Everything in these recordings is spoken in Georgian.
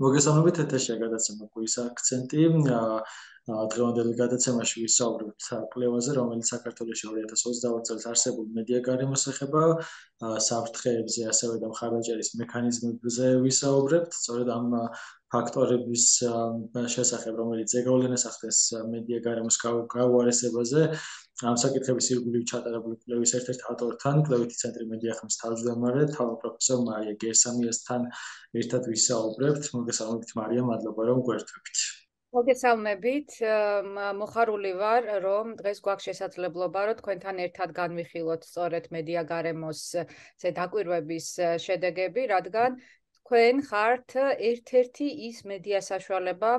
მოგესალმებით ეთერშია გადაცემა „კვირის აქცენტი“. დღევანდელი გადაცემაში ვისაუბრებთ კვლევაზე, რომელიც საქართველოში 2022 წელს არსებულ მედია გარემოს ეხება, საფრთხეებზე, ასევე და მხარდაჭერის მექანიზმებზე ვისაუბრებთ. სწორედ ამ ფაქტორების შესახებ, რომელიც ზეგავლენას ახდენს მედია გარემოს გაუარესებაზე, ამ საკითხების ირგვლივ ჩატარებული კვლევის ერთ-ერთ ავტორთან, კვლევითი ცენტრი მედიახმის თავმჯდომარე, პროფესორ მარია გერსამიასთან ერთად ვისაუბრებთ. მოგესალმებით მარია, მადლობა რომ გვერდებით. მოგესალმებით, მოხარული ვარ, რომ დღეს გვაქვს შესაძლებლობა, რომ თქვენთან ერთად განვიხილოთ სწორედ მედია გარემოს დაკვირვების შედეგები, რადგან თქვენ ხართ ერთ-ერთი ის მედია საშუალება,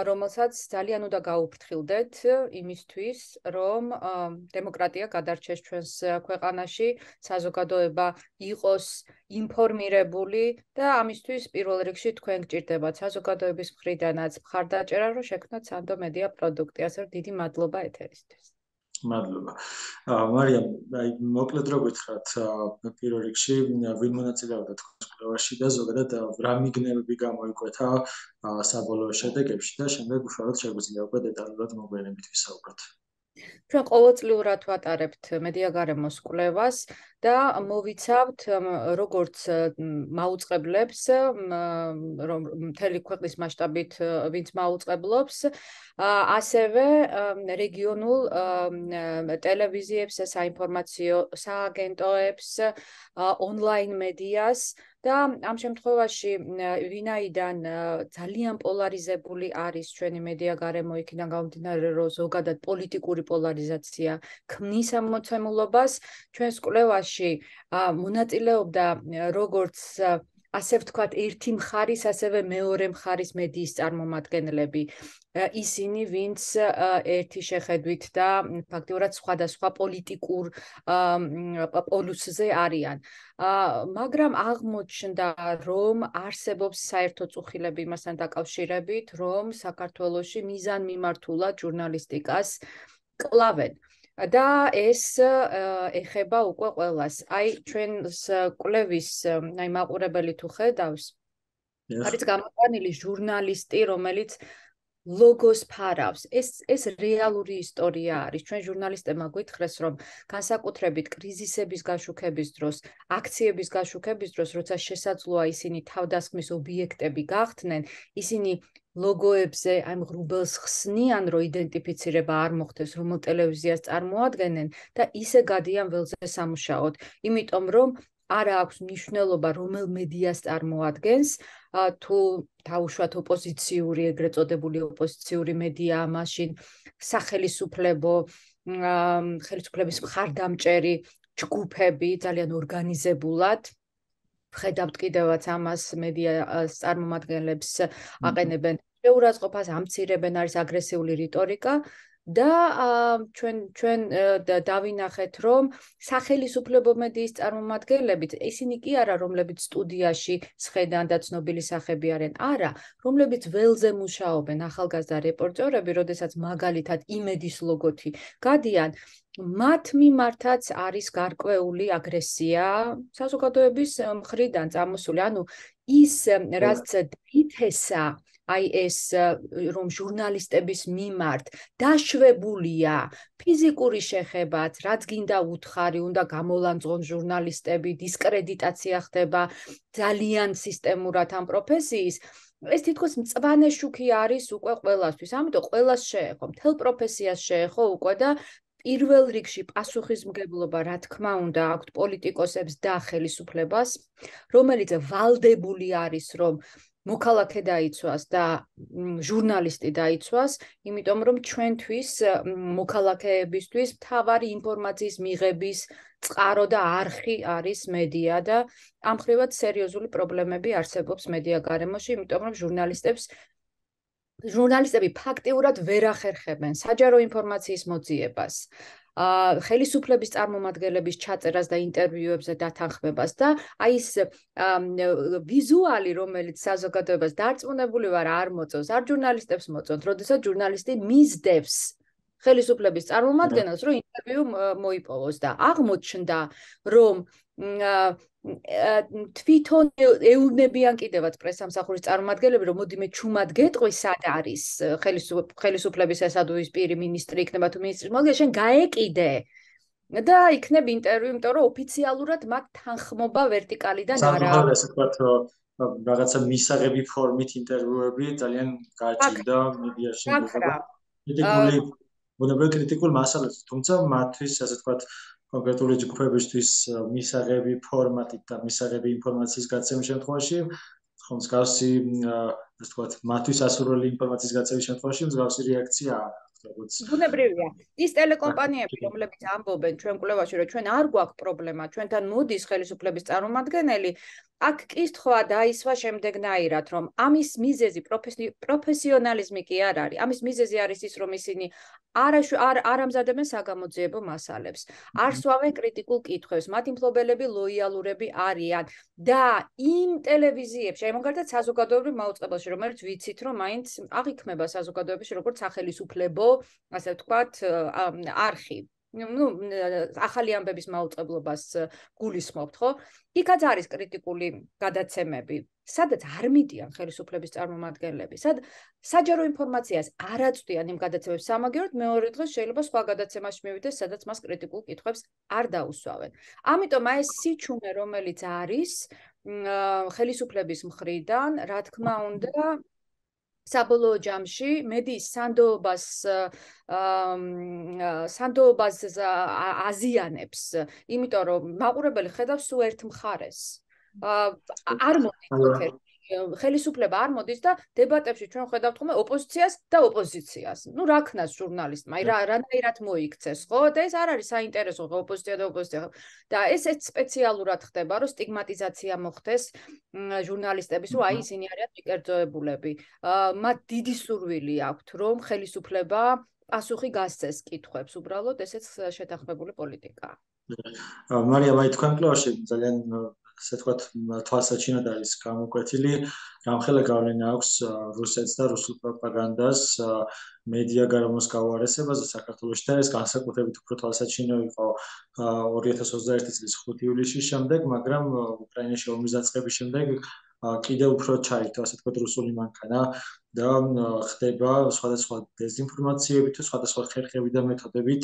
რომელსაც ძალიან უნდა გაუფრთხილდეთ იმისთვის, რომ დემოკრატია გადარჩეს ჩვენს ქვეყანაში, საზოგადოება იყოს ინფორმირებული და ამისთვის პირველ რიგში თქვენ გჭირდებათ საზოგადოების მხრიდანაც მხარდაჭერა, რომ შექმნათ სანდო მედია პროდუქტი. ასე რომ დიდი მადლობა ეთერისთვის. მადლობა. მარია, მოკლედ რო გითხრათ, პირველ რიგში ვინ მონაწილეობდა თქვენს კვლევაში და ზოგადად რა მიგნებები გამოიკვეთა საბოლოო შედეგებში და შემდეგ უშუალოდ შეგვიძლია უკვე დეტალურად მოგვიანებით ვისაუბროთ. ჩვენ ყოველწლიურად ვატარებთ მედია გარემოს კვლევას და მოვიცავთ როგორც მაუწყებლებს, მთელი ქვეყნის მასშტაბით ვინც მაუწყებლობს, ასევე რეგიონულ ტელევიზიებს, საინფორმაციო სააგენტოებს, ონლაინ მედიას და ამ შემთხვევაში ვინაიდან ძალიან პოლარიზებული არის ჩვენი მედია გარემო, იქიდან გამომდინარე, რომ ზოგადად პოლიტიკური პოლარიზაცია ქმნის ამ მოცემულობას, ჩვენს კვლევაში მონაწილეობდა როგორც ასე ვთქვათ, ერთი მხარის, ასევე მეორე მხარის მედიის წარმომადგენლები. ისინი, ვინც ერთი შეხედვით და ფაქტიურად სხვადასხვა პოლიტიკურ პოლუსზე არიან. მაგრამ აღმოჩნდა, რომ არსებობს საერთო წუხილები იმასთან დაკავშირებით, რომ საქართველოში მიზანმიმართულად ჟურნალისტიკას კლავენ. და ეს ეხება უკვე ყველას. აი, ჩვენს კვლევის მაყურებელი თუ ხედავს, არის გამოყვანილი ჟურნალისტი, რომელიც ლოგოს ფარავს. ეს რეალური ისტორია არის. ჩვენ ჟურნალისტებმა გვითხრეს, რომ განსაკუთრებით კრიზისების გაშუქების დროს, აქციების გაშუქების დროს, როცა შესაძლოა ისინი თავდასხმის ობიექტები გახდნენ, ისინი ლოგოებზე აი ღრუბელს ხსნიან, რომ იდენტიფიცირება არ მოხდეს, რომელ ტელევიზიას წარმოადგენენ და ისე გადიან ველზე სამუშაოდ. იმიტომ რომ არა აქვს მნიშვნელობა, რომელ მედიას წარმოადგენს, თუ დაუშვათ ოპოზიციური, ეგრეთ წოდებული ოპოზიციური მედია, მაშინ ხელისუფლების მხარდამჭერი ჯგუფები ძალიან ორგანიზებულად ვხედავთ კიდევაც ამას მედიას წარმომადგენლებს აყენებენ შეურაცხყოფას, ამცირებენ, არის აგრესიული რიტორიკა და ჩვენ დავინახეთ, რომ სახელისუფლებო მედიის წარმომადგენლებით, ისინი კი არა, რომლებიც სტუდიაში სხედან და ცნობილი სახები არიან, არა, რომლებიც ველზე მუშაობენ, ახალგაზრდა რეპორტერები, როდესაც მაგალითად იმედის ლოგოთი გადიან, მათ მიმართაც არის გარკვეული აგრესია საზოგადოების მხრიდან წამოსული. ანუ ის რაც ითესა აი ეს რომ ჟურნალისტების მიმართ დაშვებულია ფიზიკური შეხებაც, რაც გინდა უთხარი, უნდა გამოლანძღონ ჟურნალისტები, დისკრედიტაცია ხდება ძალიან სისტემურად ამ პროფესიის. ეს თითქოს მწვანე შუქი არის უკვე ყველასთვის, ამიტომ ყველას შეეხო, მთელ პროფესიას შეეხო უკვე და პირველ რიგში პასუხისმგებლობა, რა თქმა უნდა, აქვთ პოლიტიკოსებს და ხელისუფლებას, რომელიც ვალდებული არის, რომ მოქალაქე დაიცვას და ჟურნალისტი დაიცვას, იმიტომ რომ ჩვენთვის მოქალაქეებისთვის მთავარი ინფორმაციის მიღების წყარო და არხი არის მედია და ამ ხრივად სერიოზული პრობლემები არსებობს მედია გარემოში, იმიტომ რომ ჟურნალისტები ფაქტიურად ვერ ახერხებენ საჯარო ინფორმაციის მოძიებას, ხელისუფლების წარმომადგენლების ჩაწერას და ინტერვიუებზე დათანხმებას და აი ეს ვიზუალი, რომელიც საზოგადოებას დარწმუნებული ვარ არ მოწონს, არ ჟურნალისტებს მოწონს, როდესაც ჟურნალისტი მისდევს ხელისუფლების წარმომადგენელს, რომ ინტერვიუ მოიპოვოს და აღმოჩნდა, რომ თვითონ ეუბნებიან კიდევაც პრესსამსახურის წარმომადგენლები, რომ მოდიმე ჩუმად გეტყვი, სად არის ხელისუფლების ესადუის პირი მინისტრი იქნება თუ მინისტრის მოადგილე, შენ გაეკიდე და იქნებ ინტერვიუ, იმიტომ რომ ოფიციალურად მათ თანხმობა ვერტიკალიდან არ აქვს. ასე ვთქვათ, რაღაცა მისაღები ფორმით ინტერვიუები ძალიან გაჭირდა მედიაში. კრიტიკული, ბუნებრივი კრიტიკულ მასალებს, თუმცა მათთვის, ასე ვთქვათ, კონკრეტული ჯგუფებისთვის მისაღები ფორმატით და მისაღები ინფორმაციის გაცემის შემთხვევაში, ხომ მსგავსი, ასე ვთქვათ, მათთვის ასურველი ინფორმაციის გაცემის შემთხვევაში მსგავსი რეაქცია არ აქვს. ბუნებრივია. ის ტელეკომპანიები, რომლებიც ამბობენ ჩვენ კვლევაში, რომ ჩვენ არ გვაქვს პრობლემა, ჩვენთან მოდის ხელისუფლების წარმომადგენელი, აქ კითხვა დაისვა შემდეგნაირად, რომ ამის მიზეზი პროფესიონალიზმი კი არ არის. ამის მიზეზი არის ის, რომ ისინი არ ამზადებენ საგამოძიებო მასალებს, არ სვავენ კრიტიკულ კითხვებს, მათი მფლობელები ლოიალურები არიან და იმ ტელევიზიებში, აი მაგალითად საზოგადოებრივ მაუწყებელში, რომელიც ვიცით, რომ მაინც აღიქმება საზოგადოებაში როგორც სახელისუფლებო, ასე ვთქვათ, არხი. ახალი ამბების მაუწყებლობას გულისხმობთ, ხო? იქაც არის კრიტიკული გადაცემები, სადაც არ მიდიან ხელისუფლების წარმომადგენლები, საჯარო ინფორმაციას არ აწვდიან იმ გადაცემებს სამაგიეროდ, მეორე დღეს შეიძლება სხვა გადაცემაში მივიდეს, სადაც მას კრიტიკულ კითხვებს არ დაუსვავენ. ამიტომ აი ეს სიჩუმე, რომელიც არის ხელისუფლების მხრიდან, რა თქმა უნდა, საბოლოო ჯამში მედიის სანდოობას აზიანებს, იმიტომ რომ მაყურებელი ხედავს სულ ერთ მხარეს. არ მოდის ხელისუფლება არ მოდის და დებატებში ჩვენ ხედავთ ხოლმე ოპოზიციას და ოპოზიციას. რა ქნას ჟურნალისტმა, რანაირად მოიქცეს, ხო? და ეს არ არის საინტერესო ოპოზიცია და ოპოზიცია. და ესეც სპეციალურად ხდება, რომ სტიგმატიზაცია მოხდეს ჟურნალისტების, რომ აი ისინი არიან მიკერძოებულები. მათ დიდი სურვილი აქვთ, რომ ხელისუფლება პასუხი გასცეს კითხვებს, უბრალოდ ესეც შეთანხმებული პოლიტიკაა. მარიამ, აი თქვენ კვლევაში ძალიან ასე ვთქვათ, თვალსაჩინოდ არის გამოკვეთილი, რამხელა გავლენა აქვს რუსეთს და რუსულ პროპაგანდას მედია გარემოს გაუარესებაზე საქართველოში და ეს განსაკუთრებით უფრო თვალსაჩინო იყო 2021 წლის 5 ივლისის შემდეგ, მაგრამ უკრაინაში ომის დაწყების შემდეგ კიდევ უფრო ჩაირთვა, ასე ვთქვათ, რუსული მანქანა და ხდება სხვადასხვა დეзинფორმაციები თუ სხვადასხვა ხერხები და მეთოდებით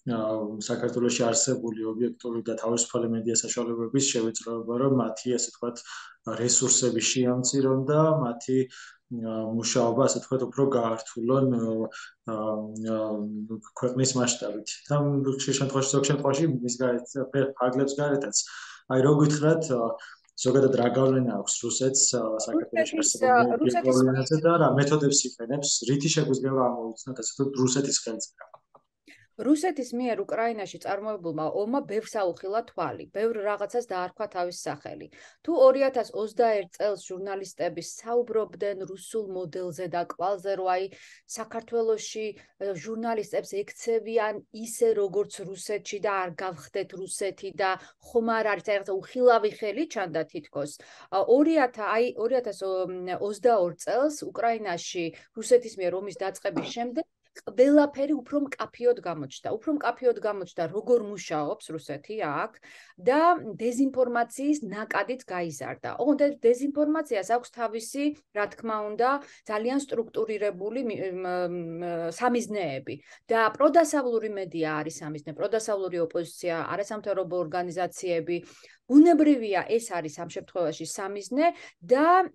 საქართველოში არსებული ობიექტური და თავისუფალი მედია საშუალებების შევიწროება, რომ მათი, ასე ვთქვათ, რესურსები შეამცირონ და მათი მუშაობა, ასე ვთქვათ, უფრო გაართულონ ქვეყნის მასშტაბით. და ზოგ შემთხვევაში მის გარეთ ფარგლებს გარეთაც. აი რო გითხრათ, ზოგადად რა გავლენა აქვს რუსეთს საქართველოში არსებულ პრობლემებზე და რა მეთოდებს იყენებს, რითი შეგვიძლია გამოვიცნოთ, ასე ვთქვათ, რუსეთის ხელწერა. რუსეთის მიერ უკრაინაში წარმოებულმა ომმა ბევრს აუხილა თვალი, ბევრ რაღაცას დაარქვა თავის სახელი. თუ 2021 წელს ჟურნალისტები საუბრობდნენ რუსულ მოდელზე და კვალზე, რომ აი საქართველოში ჟურნალისტებს ექცევიან ისე როგორც რუსეთში და არ გავხდეთ რუსეთი და ხომ არ არის რაღაცა უხილავი ხელი ჩანდა თითქოს. 2022 წელს უკრაინაში რუსეთის მიერ ომის დაწყების შემდეგ ყველაფერი უფრო მკაფიოდ გამოჩნდა. უფრო მკაფიოდ გამოჩნდა, როგორ მუშაობს რუსეთი აქ და დეзинფორმაციის ნაკადით გაიზარდა. ოღონდ დეзинფორმაციას აქვს თავისი, რა თქმა უნდა, ძალიან სტრუქტურირებული სამიზნეები და პროდასავლური მედია არის სამიზნე, პროდასავლური ოპოზიცია, არასამთავრობო ორგანიზაციები. ბუნებრივია, ეს არის ამ შემთხვევაში სამიზნე და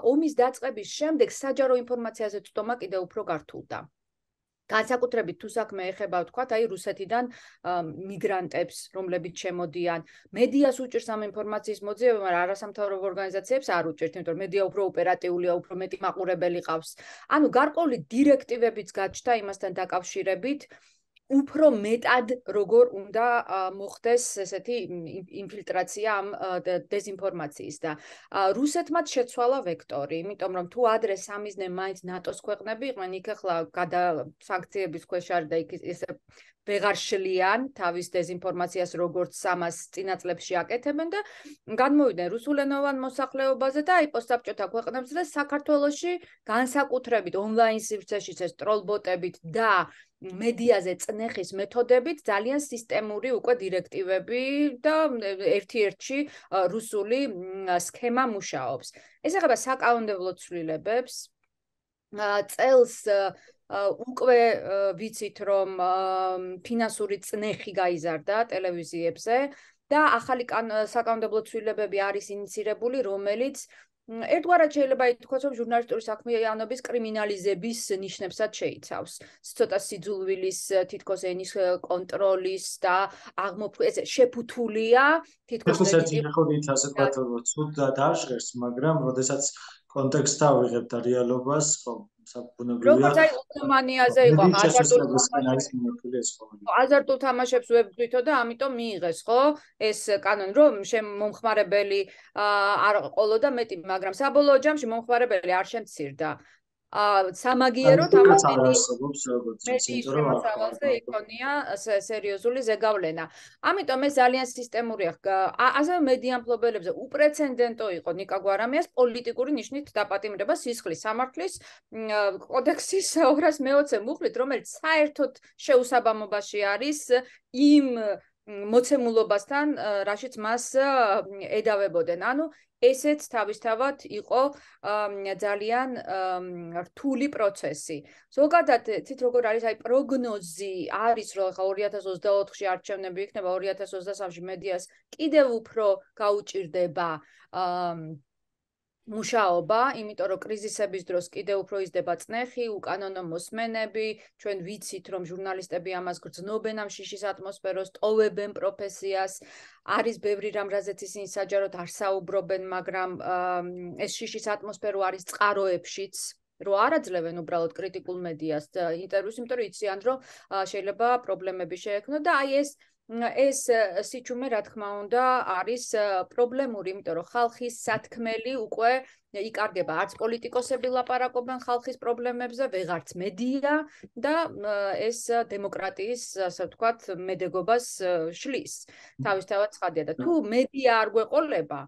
ომის დაწყების შემდეგ საჯარო ინფორმაციაზე ცდომა კიდევ უფრო გართულდა. განსაკუთრებით თუ საქმე ეხება, ვთქვათ, აი რუსეთიდან მიგრანტებს, რომლებიც შემოდიან, მედიას უჭირს ამ ინფორმაციის მოძიება, მაგრამ არასამთავრობო ორგანიზაციებს არ უჭირთ, იმიტომ რომ მედია უფრო ოპერატიულია, უფრო მეტი მაყურებელი ყავს. ანუ გარკვეული დირექტივებიც გაჩნდა იმასთან დაკავშირებით, უფრო მეტად როგორ უნდა მოხდეს ესეთი ინფილტრაცია ამ დეзинფორმაციის და რუსეთმა შეცვალა ვექტორი, იმიტომ რომ თუ ადრე სამიზნე მაინც ნატოს ქვეყნები იყვნენ, იქ ახლა სანქციების ქვეშ არის და იქ ეს ვეღარ შლიან თავის დეზინფორმაციას, როგორც ამას წინა წლებში აკეთებენ და განმოვიდნენ რუსულენოვან მოსახლეობაზე და აი პოსტსაბჭოთა ქვეყნებზე და საქართველოში განსაკუთრებით ონლაინ სივრცეში ეს ტროლბოტებით და მედიაზე წნეხის მეთოდებით ძალიან სისტემური უკვე დირექტივები და ერთ-ერთი რუსული სქემა მუშაობს. ეს ეხება საკანონმდებლო ცვლილებებს. წელს უკვე ვიცით რომ ფინანსური წნეხი გაიზარდა ტელევიზიებზე და ახალი საკანონმდებლო ცვლილებები არის ინიცირებული, რომელიც ერთგვარად შეიძლება ითქვას, რომ ჟურნალისტური საქმიანობის კრიმინალიზების ნიშნებსაც შეიცავს. ცოტა სიძულვილის, თითქოს ენის კონტროლის და ეს შეფუთულია, თითქოს ერთი ხოდით ასე ვთქვათ, ცუდ დააშღერს, მაგრამ როდესაც კონტექსტს ავიღებ და რეალობას, ხო, საბუნებრივია. როგორც აი უთმანიაზე იყო, აზარტულ თამაშებს ვებძვითო და ამიტომ მიიღეს, ხო? ეს კანონი, რომ მომხმარებელი არ ყოლოდა მეტი, მაგრამ საბოლოო ჯამში მომხმარებელი არ შემცირდა. სამაგიეროდ ამას მედიის შემოსავალზე იქონია სერიოზული ზეგავლენა. ამიტომ ეს ძალიან სისტემურია. ასევე მედია მფლობელებზე უპრეცედენტო იყო ნიკა გვარამიას პოლიტიკური ნიშნით დაპატიმრება სისხლის სამართლის კოდექსის 220 მუხლით, რომელიც საერთოდ შეუსაბამობაში არის იმ მოცემულობასთან, რაშიც მას ედავებოდნენ. ანუ ესეც თავისთავად იყო ძალიან რთული პროცესი. ზოგადად, თვით როგორ არის, აი პროგნოზი არის, რომ 2024-ში არჩევნები იქნება, 2023-ში მედიას კიდევ უფრო გაუჭირდება მუშაობა, იმიტომ რომ კრიზისების დროს კიდევ უფრო იზრდება წნეხი, უკანონო მოსმენები, ჩვენ ვიცით რომ ჟურნალისტები ამას გრძნობენ ამ შიშის ატმოსფეროს, ტოვებენ პროფესიას, არის ბევრი რამ, რაზეც ისინი საჯაროდ არ საუბრობენ, მაგრამ ეს შიშის ატმოსფერო არის წყაროებშიც, რომ არ აძლევენ უბრალოდ კრიტიკულ მედიას ინტერვიუს, იმიტომ რომ იციან რომ შეიძლება პრობლემები შეექმნათ და აი ეს სიჩუმე რა თქმა უნდა არის პრობლემური, იმიტომ რომ ხალხის სათქმელი უკვე იკარგება, არც პოლიტიკოსები ლაპარაკობენ ხალხის პრობლემებზე, ვეღარც მედია და ეს დემოკრატიის, ასე ვთქვათ, მედეგობას შლის. თავისთავად ცხადია და თუ მედია არ გვეყოლება,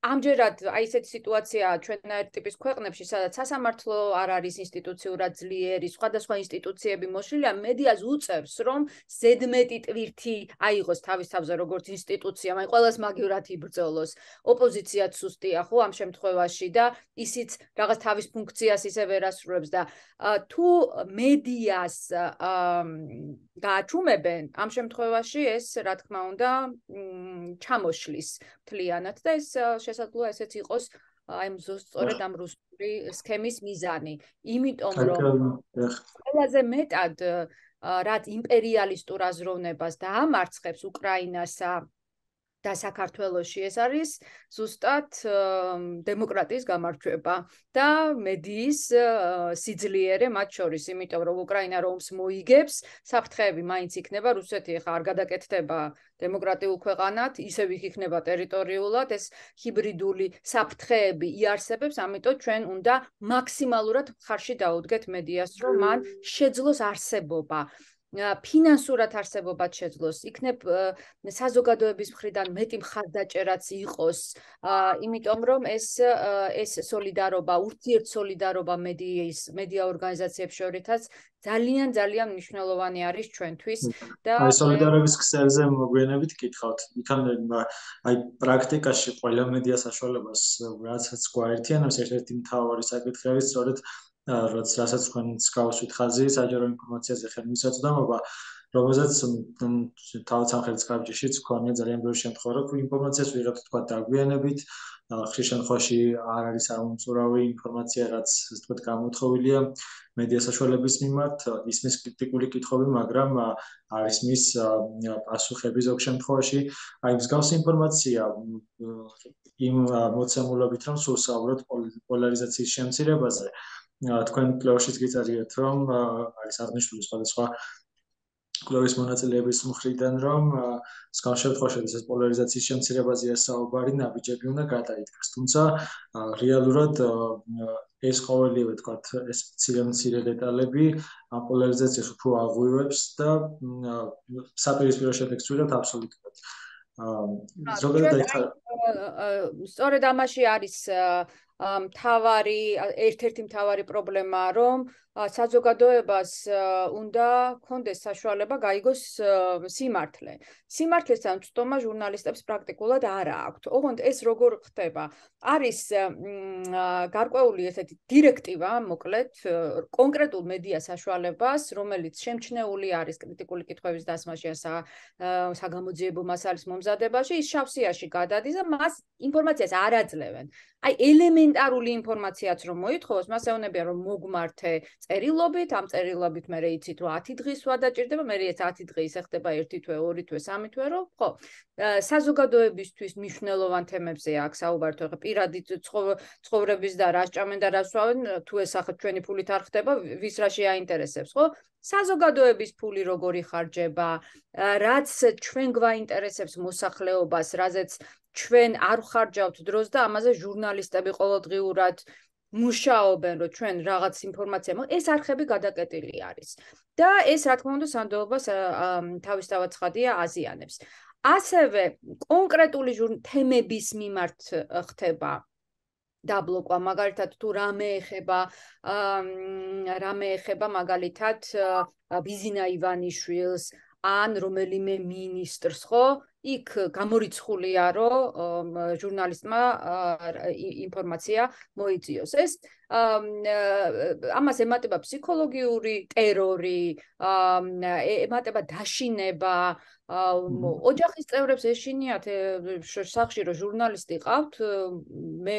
ამჯერად აი ესეთი სიტუაცია ჩვენაირ ტიპის ქვეყნებში, სადაც სასამართლო არ არის ინსტიტუციურად ძლიერი, სხვადასხვა ინსტიტუციები მოშლილია, მედიას უწევს, რომ ზედმეტი ტვირთი აიღოს თავის თავზე როგორც ინსტიტუცია, აი ყველას მაგივრად იბრძოლოს, ოპოზიციაც სუსტია, ხო, ამ შემთხვევაში და ისიც რაღაც თავის ფუნქციას ისე ვერ ასრულებს და თუ მედიას გააჩუმებენ, ამ შემთხვევაში ეს, რა თქმა უნდა, ჩამოშლის მთლიანად და ეს შესაძლოა ესეც იყოს აი სწორედ ამ რუსული სქემის მიზანი. იმიტომ რომ ყველაზე მეტად რაც იმპერიალისტურ აზროვნებას დაამარცხებს უკრაინასა და საქართველოში ეს არის ზუსტად დემოკრატიის გამარჯვება და მედიის სიძლიერე მათ შორის, იმიტომ რომ უკრაინა რომს მოიგებს, საფრთხეები მაინც იქნება, რუსეთი ხა არ გადაკეთდება დემოკრატიულ ქვეყანად, ისევ იქნება ტერიტორიულად, ეს ჰიბრიდული საფრთხეები იარსებებს, ამიტომ ჩვენ უნდა მაქსიმალურად ხარში დაუდგეთ მედიას, რომ მან შეძლოს არსებობა. ფინანსურად არსებობად შეძლოს, იქნებ საზოგადოების მხრიდან მეტი მხარდაჭერაც იყოს, იმიტომ რომ ეს სოლიდარობა, ურთიერთ სოლიდარობა მედია ორგანიზაციებს შორითაც ძალიან ძალიან მნიშვნელოვანი არის ჩვენთვის და აი სოლიდარობის ქსელზე მოგვიანებით გითხავთ. იქან აი პრაქტიკაში ყველა მედია საშუალებას რასაც გვაერთიანებს, ერთ-ერთი მთავარი საკითხი არის სწორედ რასაც თქვენც გავუსვით ხაზი, საჯარო ინფორმაციაზე ხელმისაწვდომობა, რომელზეც თავად სამხრეთის კარჯიშიც გვქონია ძალიან ბევრი შემთხვევა, რომ ინფორმაციას ვიღებთ თქვა დაგვიანებით, ხშირ შემთხვევაში არ არის ამომწურავი ინფორმაცია, რაც ასე ვთქვათ გამოთხოვილია მედია საშუალების მიმართ, ისმის კრიტიკული კითხვები, მაგრამ არის მის პასუხები ზოგ შემთხვევაში, აი მსგავსი ინფორმაცია იმ მოცემულობით, რომ სულ საუბრობთ პოლარიზაციის შემცირებაზე. თქვენ პლეუშიც გიწერიეთ, რომ არის აღნიშნული სხვადასხვა კვლევის მონაწილეების მხრიდან, რომ მსგავს შემთხვევაში ეს პოლარიზაციის შემცირებაზეა საუბარი, ნაბიჯები უნდა გადაიდგას. თუმცა რეალურად ეს ყოველივე თქვათ ეს მცირე დეტალები ამ პოლარიზაციას უფრო აღვივებს და საპირისპირო შედეგს ვიღებთ აბსოლუტურად. ზოგადად სწორედ ამაში არის ერთ-ერთი მთავარი პრობლემა, რომ საზოგადოებას უნდა კონდეს საშუალება გაიგოს სიმართლე. სიმართლესთან ცდომა ჟურნალისტებს პრაქტიკულად არ აქვთ. ოღონდ ეს როგორ ხდება? არის გარკვეული ესეთი დირექტივა, მოკლედ, კონკრეტულ მედია საშუალებას, რომელიც შემჩნეული არის კრიტიკული კითხვების დასმაში ან საგამოძიებო მასალის მომზადებაში, ის შავსიაში გადადის და მას ინფორმაციას არ აძლევენ. აი ელემენტარული ინფორმაციაც რომ მოითხოვოს, მას ეუბნებიან რომ მოგმართე წერილობით, ამ წერილობით მე იცით რომ 10 დღის ვადაჭირდება, მე ეს 10 დღე ისე ხდება 1 თვე, 2 თვე, 3 თვე, რომ ხო, საზოგადოებისთვის მნიშვნელოვან თემებზე აქვს საუბარი, თუ პირადი ცხოვრების და რა სჭამენ და რა სვავენ, თუ ეს ახლა ჩვენი ფულით არ ხდება, ვის რა შეაინტერესებს, ხო? საზოგადოების ფული როგორი ხარჯება, რაც ჩვენ გვაინტერესებს მოსახლეობას, რაზეც ჩვენ არ ვხარჯავთ დროს და ამაზე ჟურნალისტები ყოველდღიურად მუშაობენ, რომ ჩვენ რაღაც ინფორმაცია ეს არხები გადაკეტილი არის. და ეს რა თქმა უნდა სანდოობას თავისთავად ცხადია აზიანებს. ასევე კონკრეტული თემების მიმართ ხდება დაბლოკვა, მაგალითად თუ რამე ეხება მაგალითად ბიზინა ივანიშვილს ან რომელიმე მინისტრს, ხო? იქ გამორიცხულია, რომ ჟურნალისტმა ინფორმაცია მოიწიოს. ეს ამას ემატება ფსიქოლოგიური ტერორი, ემატება დაშინება, ოჯახის წევრებს ეშინიათ სახში რომ ჟურნალისტი ყავთ, მე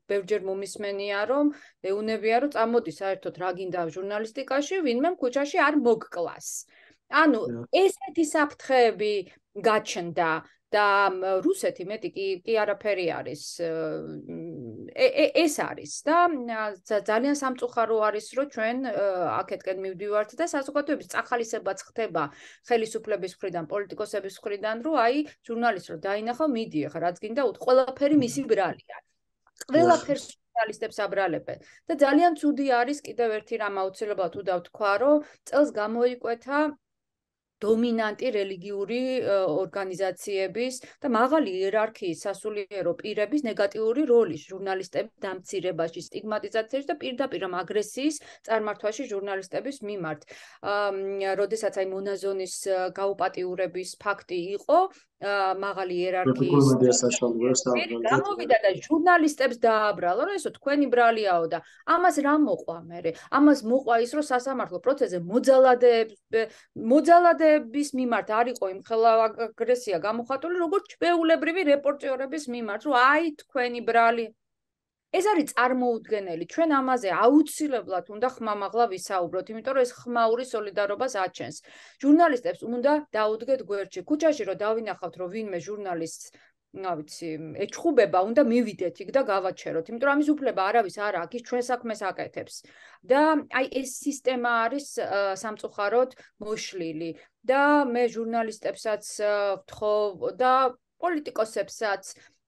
ბევრჯერ მომისმენია რომ ეუნებია რომ წამოდი საერთოდ რა გინდა ჟურნალისტიკაში, ვინმე ქუჩაში არ მოგკლას. ანუ ესეთი საფრთხეები გაჩნდა და რუსეთი მეტი კი არაფერი არის. ეს არის და ძალიან სამწუხარო არის რომ ჩვენ აქეთკენ მივდივართ და საზოგადოების წახალისებაც ხდება ხელისუფლების მხრიდან, პოლიტიკოსების მხრიდან, რომ აი ჟურნალისტს რომ დაინახო, მიდი ახლა რაც გინდა ყველაფერი მისი ბრალია. ყველაფერს ჟურნალისტებს აბრალებენ და ძალიან ცუდი არის კიდევ ერთი რამ აუცილებლად თუ დავთქვა, რომ წელს გამოიკვეთა დომინანტი რელიგიური ორგანიზაციების და მაღალი იერარქიის სასულიერო პირების ნეგატიური როლი ჟურნალისტების დამცირებაში, სტიგმატიზაციაში და პირდაპირ აგრესიის წარმართვაში ჟურნალისტების მიმართ. როდესაც აი მონაზონის გაუპატიურების ფაქტი იყო, მაღალი იერარქიის გამოვიდა და ჟურნალისტებს დააბრალა, რომ ესო თქვენი ბრალიაო და ამას რა მოყვა მერე? ამას მოყვა ის, რომ სასამართლო პროცესზე მოძალადეების მიმართ არ იყო იმხელა აგრესია გამოხატული, როგორც ჩვეულებრივი რეპორტიორების მიმართ, რომ აი თქვენი ბრალი. ეს არის წარმოუდგენელი. ჩვენ ამაზე აუცილებლად უნდა ხმამაღლა ვისაუბროთ, იმიტომ რომ ეს ხმაური სოლიდარობას აჩენს. ჟურნალისტებს უნდა დაუდგეთ გვერდში. ქუჩაში რომ დავინახავთ, რომ ვინმე ჟურნალისტს ეჩხუბება, უნდა მივიდეთ იქ და გავაჩეროთ, იმიტომ რომ ამის უფლება არავის არ აქვს, ის ჩვენ საქმეს აკეთებს. და აი ეს სისტემა არის სამწუხაროდ მოშლილი და მე ჟურნალისტებსაც ვთხოვ და პოლიტიკოსებსაც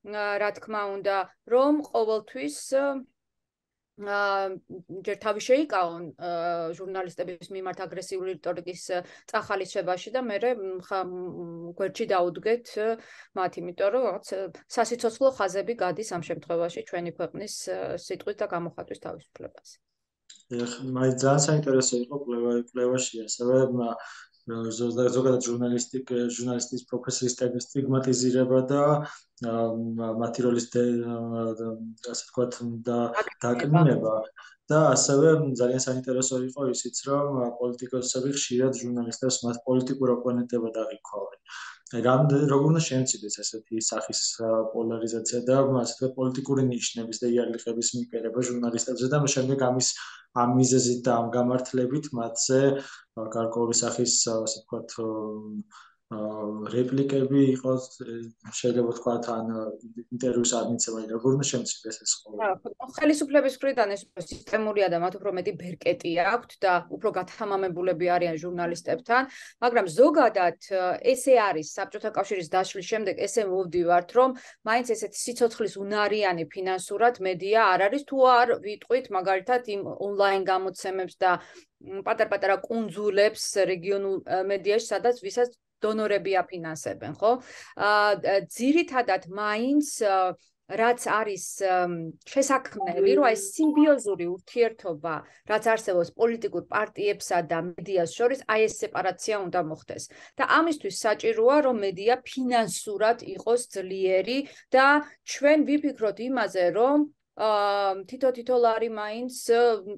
რა თქმა უნდა, რომ ყოველთვის ჯერ თავი შეიკავონ ჟურნალისტების მიმართ აგრესიული რიტორიკის წახალისებაში და მერე გვერდში დაუდგეთ მათ, იმიტომ რომ რაღაც სასიცოცხლო ხაზები გადის ამ შემთხვევაში ჩვენი ქვეყნის სიტყვის და გამოხატვის თავისუფლებას. მაინც ძალიან საინტერესო იყო კვლევაში ასევე ზოგადად ჟურნალისტის პროფესიის სტიგმატიზირება და მათი როლის ასე ვთქვათ დაკნინება და ასევე ძალიან საინტერესო იყო ისიც, რომ პოლიტიკოსები ხშირად ჟურნალისტებს მათ პოლიტიკურ ოპონენტებად აღიქვავენ. როგორ უნდა შემცირდეს ესეთი სახის პოლარიზაცია და ასე ვთქვათ პოლიტიკური ნიშნების და იარლიყების მიყერება ჟურნალისტებზე და შემდეგ ამ მიზეზით და ამ გამართლებით მათზე გარკვეული სახის ასე ვთქვათ რეპლიკები იყოს, შეიძლება ვთქვათ, ან ინტერვიუს არ მიცემა, როგორ უნდა შემცირდეს ეს ყოველდღე. ხელისუფლების მხრიდან ეს სისტემურია და მათ უფრო მეტი ბერკეტი აქვთ და უფრო გათამამებულები არიან ჟურნალისტებთან, მაგრამ ზოგადად ესე არის საბჭოთა კავშირის დაშლის შემდეგ ესე მოვდივართ, რომ მაინც ესეთი სიცოცხლის უნარიანი ფინანსურად მედია არ არის, თუ არ ვიტყვით მაგალითად იმ ონლაინ გამოცემებს და პატარ-პატარა კუნძულებს რეგიონულ მედიაში, სადაც ვისაც დონორები აფინანსებენ, ხო? ძირითადად მაინც რაც არის შესაქმნელი, რომ ეს სიმბიოზური ურთიერთობა, რაც არსებობს პოლიტიკურ პარტიებსა და მედიას შორის, აი ეს სეპარაცია უნდა მოხდეს. და ამისთვის საჭიროა, რომ მედია ფინანსურად იყოს ძლიერი და ჩვენ ვიფიქროთ იმაზე, რომ თითო ლარი მაინც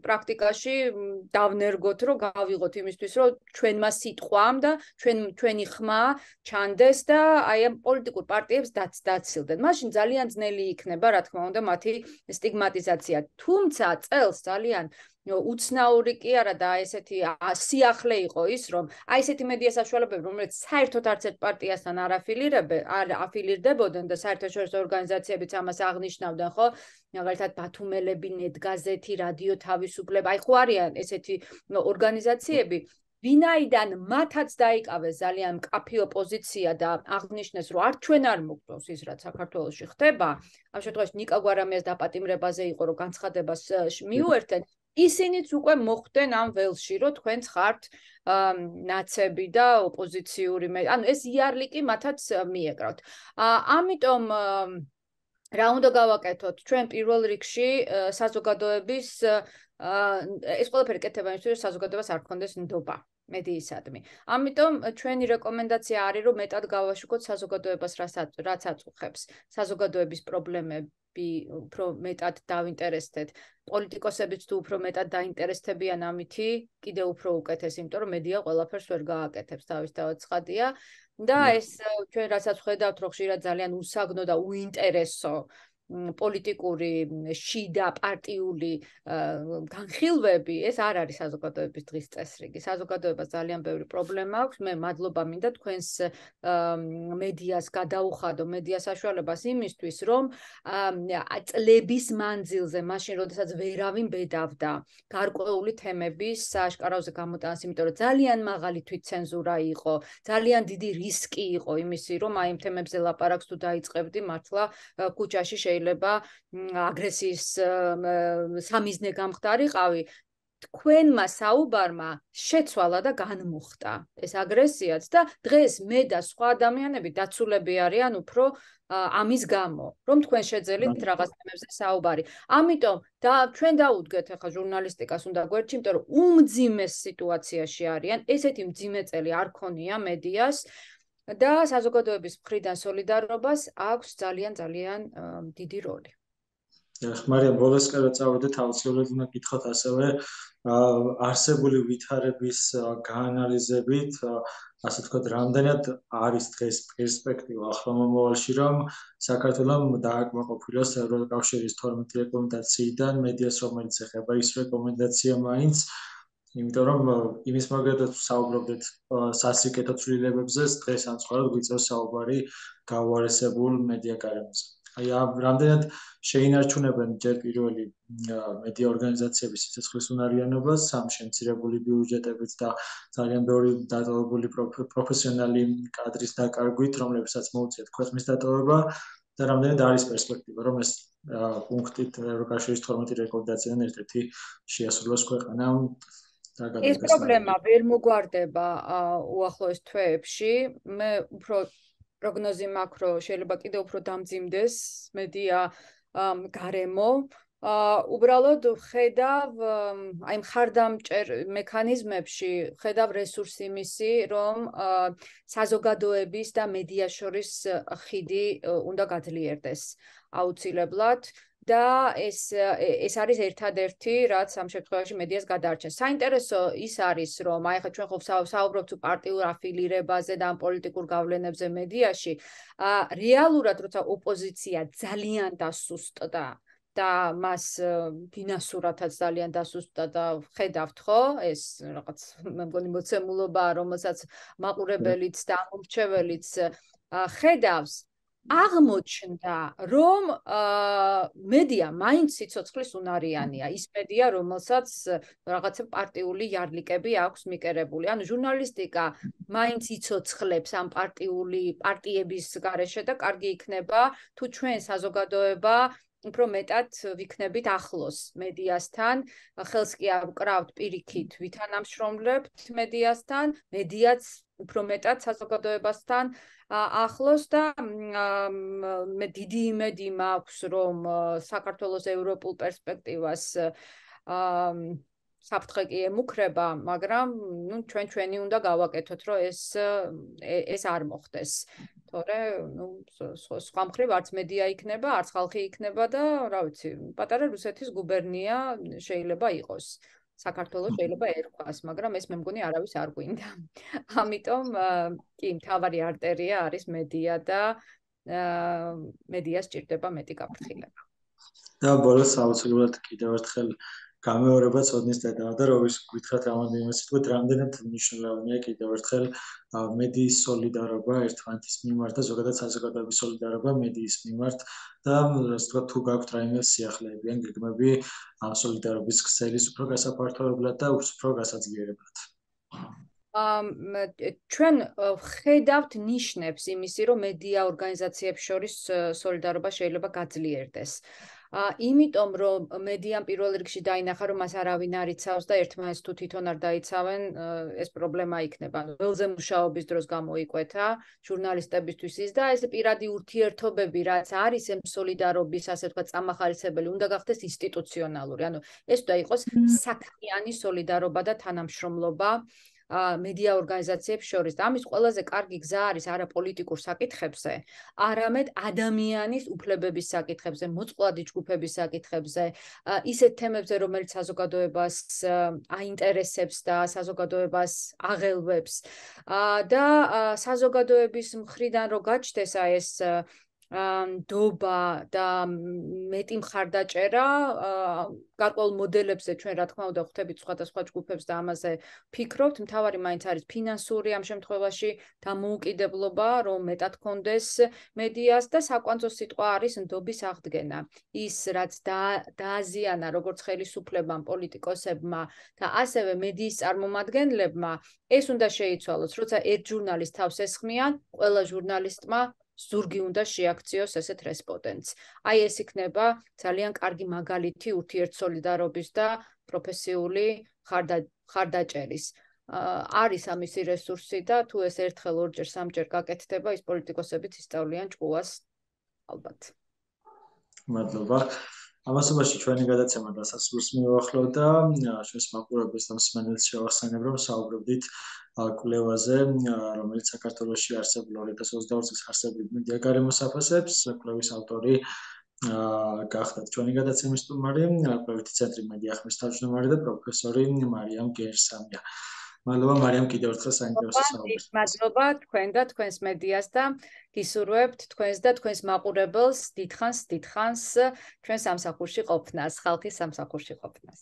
პრაქტიკაში დავნერგოთ, რომ გავიღოთ იმისთვის, რომ ჩვენმა სიტყვამ და ჩვენი ხმა ჩანდეს და აი ამ პოლიტიკურ პარტიებს დაცილდნენ. მაშინ ძალიან ძნელი იქნება, რა თქმა უნდა, მათი სტიგმატიზაცია. თუმცა წელს ძალიან უცნაური კი არა და ესეთი სიახლე იყო ის, რომ აი ესეთი მედია საშუალებები, რომელიც საერთოდ არც ერთ პარტიასთან არ აფილირდებოდნენ და საერთაშორისო ორგანიზაციებიც ამას აღნიშნავდნენ, ხო? მაგალითად ბათუმელები, ნეტგაზეთი, რადიო თავისუფლება, აი ხო არიან ესეთი ორგანიზაციები, ვინაიდან მათაც დაიკავეს ძალიან მკაფიო ოპოზიცია და აღნიშნეს, რომ არ ჩვენ არ მოგწონს ის, რაც საქართველოში ხდება, ამ შემთხვევაში ნიკა გვარამიას დაპატიმრებაზე იყო, რომ განცხადებას მიუერთდნენ, ისინიც უკვე მოხვდნენ ამ ველში, რომ თქვენც ხართ ნაცები და ოპოზიციური, ანუ ეს იარლიკი მათაც მიეკრავთ. ამიტომ რა უნდა გავაკეთოთ? ჩვენ პირველ რიგში საზოგადოების ეს ყველაფერი კეთება იმისთვის, რომ საზოგადოებას არ გქონდეს ნდობა მედიისადმი. ამიტომ ჩვენი რეკომენდაცია არის, რომ მეტად გავაშუქოთ საზოგადოებას, რაც აწუხებს საზოგადოების პრობლემები, უფრო მეტად დავინტერესდეთ. პოლიტიკოსებიც თუ უფრო მეტად დაინტერესდებიან ამითი, კიდევ უფრო უკეთეს, იმიტომ რომ მედია ყველაფერს ვერ გააკეთებს, თავისთავად ცხადია. და ეს ჩვენ რასაც ხედავთ, რომ ხშირად ძალიან უსაგნო და უინტერესო პოლიტიკური შიდა პარტიული განხილვები, ეს არ არის საზოგადოების დღის წესრიგი. საზოგადოებას ძალიან ბევრი პრობლემა აქვს. მე მადლობა მინდა თქვენს მედიას გადაუხადო, მედიას საშუალებას იმისთვის, რომ წლების მანძილზე, მაშინ როდესაც ვერავინ ბედავდა გარკვეული თემების სააშკაროზე გამოტანას, იმიტომ რომ ძალიან მაღალი თვითცენზურა იყო, ძალიან დიდი რისკი იყო იმისი, რომ აი იმ თემებზე ლაპარაკს თუ დაიწყებდი, მართლა ქუჩაში შეიძლება აგრესიის სამიზნე გამხდარიყავი. თქვენმა საუბარმა შეცვალა და განმუხტა ეს აგრესიაც და დღეს მე და სხვა ადამიანები დაცულები არიან უფრო ამის გამო, რომ თქვენ შეძელით რაღაც თემებზე საუბარი. ამიტომ ჩვენ დაუდგეთ ახლა ჟურნალისტიკას უნდა გვერდში, იმიტომ რომ უმძიმეს სიტუაციაში არიან, ესეთი მძიმე წელი არ ქონია მედიას და საზოგადოების მხრიდან სოლიდარობას აქვს ძალიან დიდი როლი. მარიამ, ბოლოსკენ წავედით, აუცილებლად უნდა გითხრათ ასევე არსებული ვითარების გაანალიზებით, ასე ვთქვათ, რამდენად არის დღეს პერსპექტივა ახლო მომავალში, რომ საქართველოს დააკმაყოფილოს ევროკავშირის 12 რეკომენდაციიდან მედიას, რომელიც ეხება ის რეკომენდაცია მაინც, იმიტომ რომ იმის მაგალითად საუბრობდით სასიკეთო ცვლილებებზე, დღეს ან სხვა გვიწევს საუბარი გაუარესებულ მედია გარემოზე. აი რამდენად შეინარჩუნებენ ჯერ პირველი მედია ორგანიზაციების სიცოცხლის უნარიანობას, ამ შემცირებული ბიუჯეტებით და ძალიან ბევრი დატოვებული პროფესიონალი კადრის დაკარგვით, რომლებსაც მოუწიათ ქვეყნის დატოვება და რამდენად არის პერსპექტივა, რომ ეს პუნქტით ევროკავშირის 12 რეკომენდაციიდან ერთ-ერთი შეასრულოს ქვეყანამ. ეს პრობლემა ვერ მოგვარდება უახლოეს თვეებში. მე უფრო პროგნოზი მაქვს, რომ შეიძლება კიდევ უფრო დამძიმდეს მედია გარემო. უბრალოდ ხედავ აი მხარდამჭერ მექანიზმებში, ხედავ რესურსი მისი, რომ საზოგადოების და მედიას შორის ხიდი უნდა გაძლიერდეს აუცილებლად. და ეს არის ერთადერთი, რაც ამ შემთხვევაში მედიას გადაარჩენს. საინტერესო ის არის, რომ აი ხა ჩვენ ხო საუბრობთ პარტიულ αφილირებაზე და ამ პოლიტიკურ გავლენებზე მედიაში, რეალურად როცა ოპოზიცია ძალიან დასუსტდა და მას ფინანსურათაც ძალიან დასუსტდა და ხედავთ ხო ეს რაღაც მე მგონი მოცემულობაა რომელსაც მაყურებელიც და ამორჩეველიც ხედავს აღმოჩნდა რომ მედია მაინც სიცოცხლის უნარიანია ის მედია რომელსაც რაღაცა პარტიული იარლიკები აქვს მიკერებული ანუ ჟურნალისტიკა მაინც იცოცხლებს ამ პარტიების გარეშე და კარგი იქნება თუ ჩვენ საზოგადოება უფრო მეტად ვიქნებით ახლოს მედიასთან, ხელს კი არ ვკრავთ პირიქით, ვითანამშრომლებთ მედიასთან, მედიაც უფრო მეტად საზოგადოებასთან ახლოს და მე დიდი იმედი მაქვს, რომ საქართველოს ევროპულ პერსპექტივას საფრთხე კი ემუქრება, მაგრამ ჩვენი უნდა გავაკეთოთ, რომ ეს არ მოხდეს. თორე, სხვა მხრივ არც მედია იქნება, არც ხალხი იქნება და, რა ვიცი, პატარა რუსეთის გუბერნია შეიძლება იყოს. საქართველოს შეიძლება ერქვას, მაგრამ ეს მე მგონი არავის არ გვინდა. ამიტომ კი, მთავარი არტერია არის მედია და მედიას სჭირდება მეტი გაფრთხილება. და ბოლოს აუცილებლად კიდევ ერთხელ გამეორება ცოდნის დედაა და როვის გითხრათ რამოდენიმე სიტყვით რამდენად მნიშვნელოვანია კიდევ ერთხელ მედიის სოლიდარობა ერთმანეთის მიმართ და ზოგადად საზოგადოების სოლიდარობა მედიის მიმართ და ასე ვთქვათ თუ გაქვთ რაიმე სიახლეები ან გეგმები ამ სოლიდარობის ქსელის უფრო გასაფართოებლად და უფრო გასაძლიერებლად. ჩვენ ხედავთ ნიშნებს იმისი, რომ მედია ორგანიზაციებს შორის სოლიდარობა შეიძლება გაძლიერდეს. იმიტომ რომ მედიამ პირველ რიგში დაინახა რომ მას არავინ არ იცავს და ერთმანეთს თუ თვითონ არ დაიცავენ ეს პრობლემა იქნება. ველზე მუშაობის დროს გამოიკვეთა ჟურნალისტებისთვის ის და ეს პირადი ურთიერთობები რაც არის ამ სოლიდარობის ასე ვთქვათ წამახარისებელი უნდა გახდეს ინსტიტუციონალური. ანუ ეს უნდა იყოს საქმიანი სოლიდარობა და თანამშრომლობა მედია ორგანიზაციებს შორის და ამის ყველაზე კარგი გზა არის არა პოლიტიკურ საკითხებზე, არამედ ადამიანის უფლებების საკითხებზე, მოწყვლადი ჯგუფების საკითხებზე, ისეთ თემებზე, რომელიც საზოგადოებას აინტერესებს და საზოგადოებას აღელვებს და საზოგადოების მხრიდან რო გაჩნდეს ეს ნდობა და მეტი მხარდაჭერა გარკვეულ მოდელებზე ჩვენ რა თქმა უნდა ხვდებით სხვადასხვა ჯგუფებს და ამაზე ფიქრობთ, მთავარი მაინც არის ფინანსური ამ შემთხვევაში დამოუკიდებლობა, რომ მეტად კონდეს მედიას და საკვანძო სიტყვა არის ნდობის აღდგენა. ის რაც დააზიანა როგორც ხელისუფლებამ, პოლიტიკოსებმა და ასევე მედიის წარმომადგენლებმა, ეს უნდა შეიცვალოს, როცა ერთ ჟურნალისტს თავს ესხმიან, ყველა ჟურნალისტმა ზურგი უნდა შეაქციოს ესეთ რესპონდენტს. აი ეს იქნება ძალიან კარგი მაგალითი ურთიერთსოლიდარობის და პროფესიული ხარდაჭერის. არის ამისი რესურსი და თუ ეს ერთხელ ორჯერ სამჯერ გაკეთდება, ის პოლიტიკოსებიც ისწავლიან ჭკუას ალბათ. მადლობა. ამასობაში ჩვენი გადაცემა დასასრულს მივახლოვ და ჩვენს მაყურებელს და მსმენელს შევახსენებ, რომ საუბრობდით კვლევაზე, რომელიც საქართველოში არსებულ 2022 წელს არსებულ მედია გარემოსაფასებს, კვლევის ავტორი გახდათ ჩვენი გადაცემის სტუმარი, კვლევითი ცენტრი მედია ხმის თავმჯდომარე და პროფესორი მარიამ გერსამია. მადლობა მარიამ კიდევ ერთხელ საინტერესო საუბრს. მადლობა თქვენ და თქვენს მედიას და გისურვებთ თქვენს და თქვენს მაყურებელს დიდხანს ჩვენ სამსახურში ყოფნას, ხალხის სამსახურში ყოფნას.